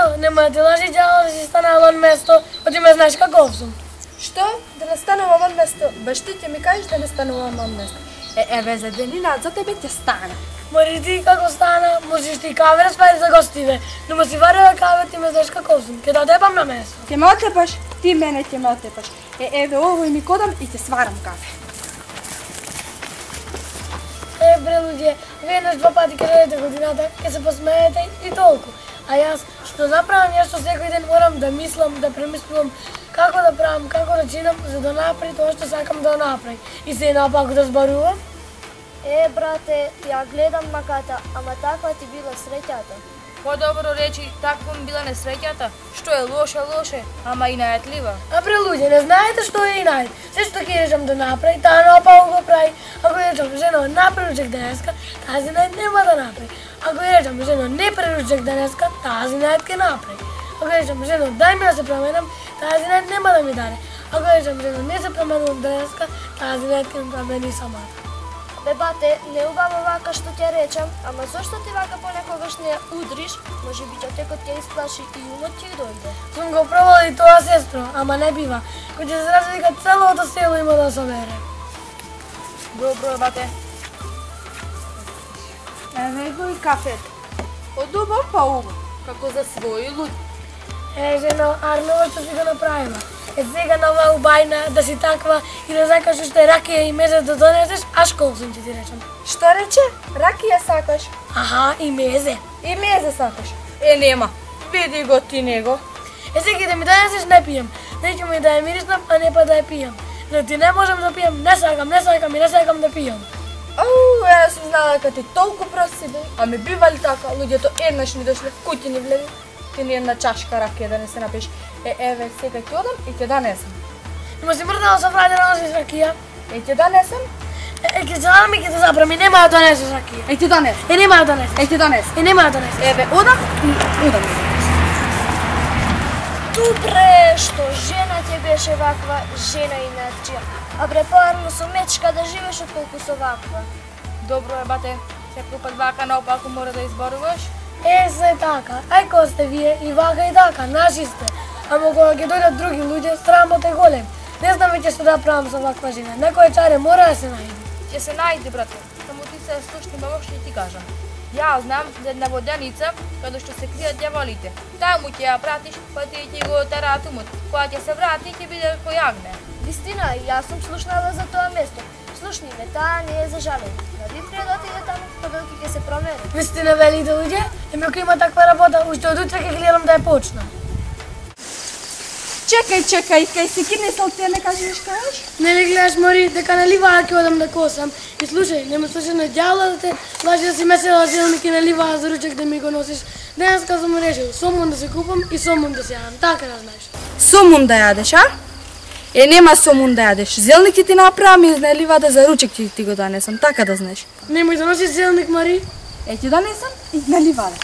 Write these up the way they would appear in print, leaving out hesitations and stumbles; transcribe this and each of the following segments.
Жено, нема да ти лажи ѓало да си стане лон место, оти ме знаеш каков сум. Што? Да не станува вон место? Баш ти ќе ми кажеш да не станува вон место. Еве за денина, за тебе ќе стане. Мари ти како стана, можеш ти каве распади за гостиве, но си варила каве, ти ме знаеш каков сум, ќе да одебам на место. Ќе ме отепаш, ти мене ќе ме отепаш. Еве овој ми кодам и ќе сварам кафе. Бре луѓе, веднаш 2 пати ќе дойдете годината, ќе се посмеете и толку. А јас, што направам нешто секој ден, морам да мислам, да премислувам како да правам, како да чинам, за да направи тоа што сакам да направи. И се напаку да збарувам. Брате, ја гледам маката, ама таква ти била среќата. По-добро речи, таква ми била несреќата. Што е лоше, ама и најатлива. Бре луѓе, не знаете што е и најд. Се што ќе речам да направи, таа напаку го прави. Ако речам, жено, направи ручек денеска, тази најд нема да направи. Ако речам, жено, не преручек денеска, тази најд ќе направи. Ако речам, жено, дај ми да се променам, тази најд нема да ми даде. Ако речам, жено, не се променувам денеска, тази најд ќе ми промени самата. Бе, бате, не убаво вака што ќе речам, ама зошто ти вака понекогаш не удриш, може би човекот ќе исплаши и умот ќе дојде. Сум го пробала и тоа, сестро, ама не бива. Кој ќе се развика целото село има да собере. Добро, бате. Еве го и кафето. Од убав па убав, како за своји луѓе. Жено, Арнова што си го направила. Сега на оваа убајна да си таква и да сакаш уште ракија и мезе да донесеш, аш колсум ќе ти речам. Што рече? Ракија сакаш? Аха, и мезе. И мезе сакаш? Нема. Види го ти него. Сега да ми донесеш, не пијам. Не ќе ми да ја мириснам, а не па да ја пијам. Да ти не можам да пијам, не сакам и не сакам да пијам. Јас сум знала дека ти толку прост си бил. А ми бивали така, луѓето еднаш ми дошле в куќи ни влеви. Ти ни една чашка ракија да не се напиеш. Еве, сега ќе одам и ќе донесам. Има си мрдала со фрајде да носиш ракија. Ќе донесам? Ќе задам и ќе те запрами, нема да донесеш ракија. Ќе донесам. Нема да донесеш. Ќе донесам. Нема да донесеш. Еве, одам и одам. Добре, што жена ќе беше ваква, жена и начија. А бре, поарно со мечка да живееш отколку со ваква. Добро е, бате. Секој пат вака наопаку мора да изборуваш. Се така, ајко сте вие и вака и така, наши сте. Ама кога ќе дојдат други луѓе, срамот е голем. Не знам веќе што да правам со ваква жена. Некој чаре мора да се најде. Ќе се најде, брате. Само ти се слушни, баба, што ти кажам. Ја знам за една воденица каде што се кријат ѓаволите. Таму ќе ја пратиш, па ти ќе го тараат умот. Кога ќе се врати, ќе биде кој јагне. Вистина, јас сум слушнала за тоа место. Слушни ме, таа не е за жалење. Дали треба да отиде таму, па додека ќе се промени. Вистина, велите луѓе, ако има таква работа, уште од утре ќе гледам да ја почнам. Чекај, кај си кинесал ти не кажеш кажеш? Не гледаш, Мари, дека наливаа ќе одам да косам. И слушај, нема слушај на ѓавла да те лажи да си месела зелник и наливаа за ручек да ми го носиш. Денеска сум решил, сомун да се купам и сомун да се јадам, така да знаеш. Сомун да јадеш, а? Нема сомун да јадеш. Зелник ти направам и изнелива да за ручек ти го донесам, така да знаеш. Немој да носиш зелник, Мари. Ти донесам и изнелива да.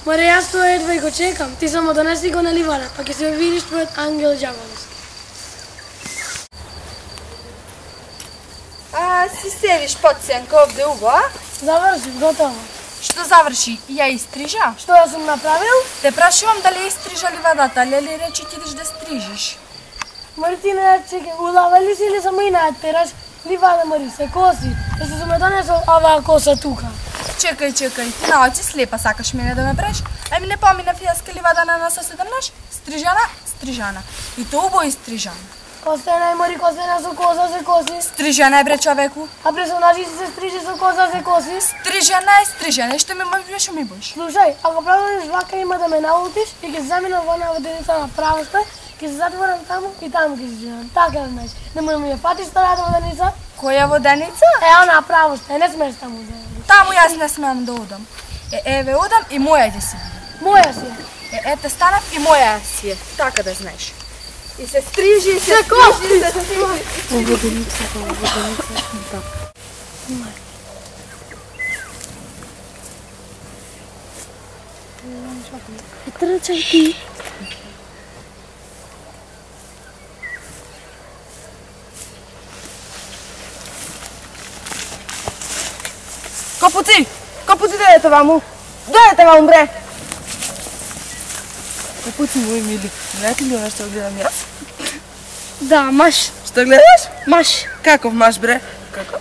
Мари, јас тоа едва и го чекам. Ти само донеси го наливара, па ќе се видиш твојот ангел ѓаволски. Си седиш под сенка овде убо, а? Заврши, готово. Што заврши? Ја истрижа? Што ја сум направил? Те прашувам дали истрижа ливадата, лели речи ти идеш да стрижиш. Мари, ти не чекай, улава ли си или само и најтераш? Ливада, Мари, се коси. Да се сум донесол оваа коса тука. Чекај, ти на очи слепа сакаш мене да ме бреш? Ајми не помина фијаска ливада на соседнаш? Стрижана. И то убо истрижана. Костена е, Мари, костена со коса се коси. Стрижана е, бре, човеку. А персонажи се стрижи со коса се коси. Стрижана е, што ми можеш ми боиш. Слушај, ако правиш вака има да ме наутиш и ќе заминам во една воденица на правоста, ќе се затворам таму и таму ќе се живеам. Така да знаеш. Немој ми ја фатиш старата воденица. Која воденица? Она правоста, не смеш таму да. Таму јас не смеам да одам. Еве одам и моја ќе си биде. Моја си е. Ете станав и моја си е. Така да знаеш. И се стрижи, и се стрижи, се стрижи. Воденица, така. Трчај ти. Капуци, дојдете ваму, бре. Капуци мои мили, знаете ли оно што гледам јас? Да, маш. Што гледаш? Маш. Каков маш, бре? Како?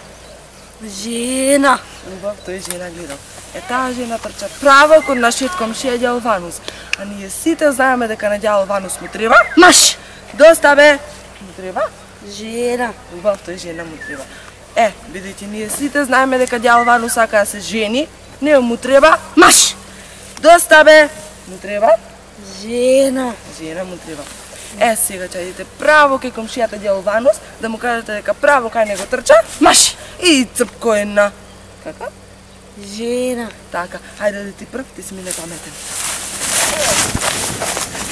Жена. Убав, тој жена гледал. Таа жена трча право кон нашиот комшија ѓаол Ванус. А ние сите знаеме дека на ѓаол Ванус му треба. Маш. Доста бе. Му треба? Жена. Убав, тој жена му треба. Бидејќи ние сите знаеме дека ѓаол Ванус сака да се жени, не му треба. Маш. Доста бе. Му треба? Жена. Жена му треба. Сега ќе идете право кај комшијата ѓаол Ванус, да му кажете дека право кај него трча. Маш. И црпко една. Како? Жена. Така, хајде да ти прв, ти си ми непаметен.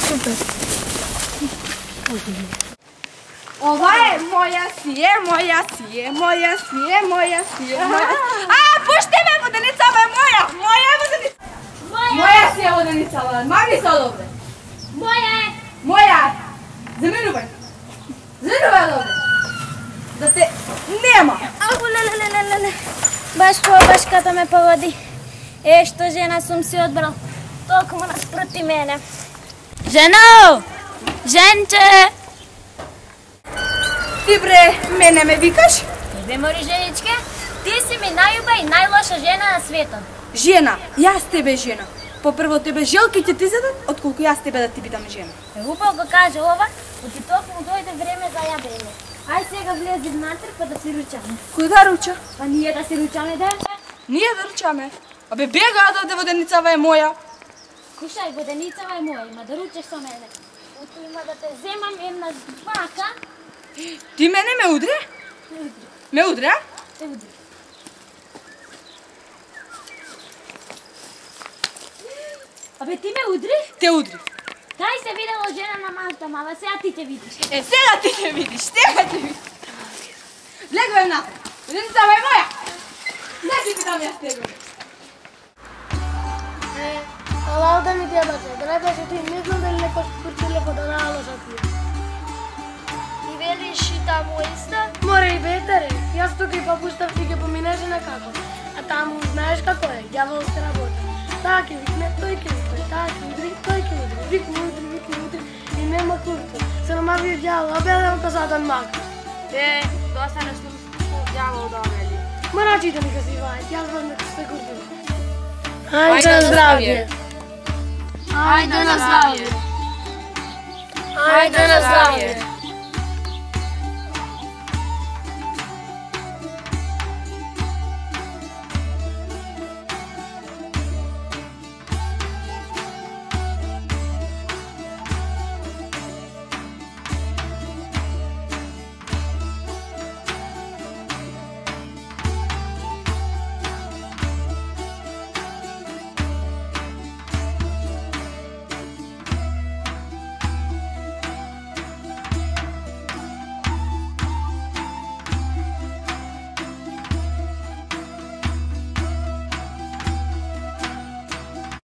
Супер. Ова е моја си е, моја си е, моја си е, моја си е, моја... Пушти ме, воденицава е моја! Моја е воденицава! Моја си е воденицава, маги се одобре! Моја е. Моја е! Заминувај! Заминувај одобре! Да те нема! Ау, леле. Баш башката ме погоди. Што жена сум си одбрал. Толку наспроти мене. Жено! Женче! Ти бре, мене ме викаш? Бе, мори женичке, ти си ми најуба и најлоша жена на светот. Жена, јас тебе жена. Попрво тебе желки ќе ти зедат, отколку јас тебе да ти бидам жена. Убаво го каже ова, оти токму дојде време за јадење. Ај сега влези внатре па да си ручаме. Кој да руча? Па ние да си ручаме, да? Ние да ручаме. Абе бега да воденицава е моја. Кушај, воденицава е моја, има да ручеш со мене. Ото има да те земам една бака. Ти мене ме удри? Ме удри, а? Те удри. Абе ти ме удри? Те удри. Кај се видело жена на малта мала, сега ти ќе видиш. Сега ти ќе видиш, сега ќе видиш. Легувам напред. Воденицава е моја. Не ти питам јас тебе. Ала да ми дебате, да не беше ти, не знам дали некој курчиле по да наложа ти. И велиш и таму исто? Море и бетаре, јас тука и папуштав ти ќе поминеше на како. А таму знаеш како е, ѓавол се работи. Таа ќе викне, тој ќе викне, таа ќе удри, тој ќе удри. Викне удри и нема курто. Се намави ѓавол, обедам косатан мак. Доста нешто ѓавол да обеди. Морачите ми казиваат, јас знам дека сте курто. Ајде на здравје. Ајде на здравје. Ајде на здравје.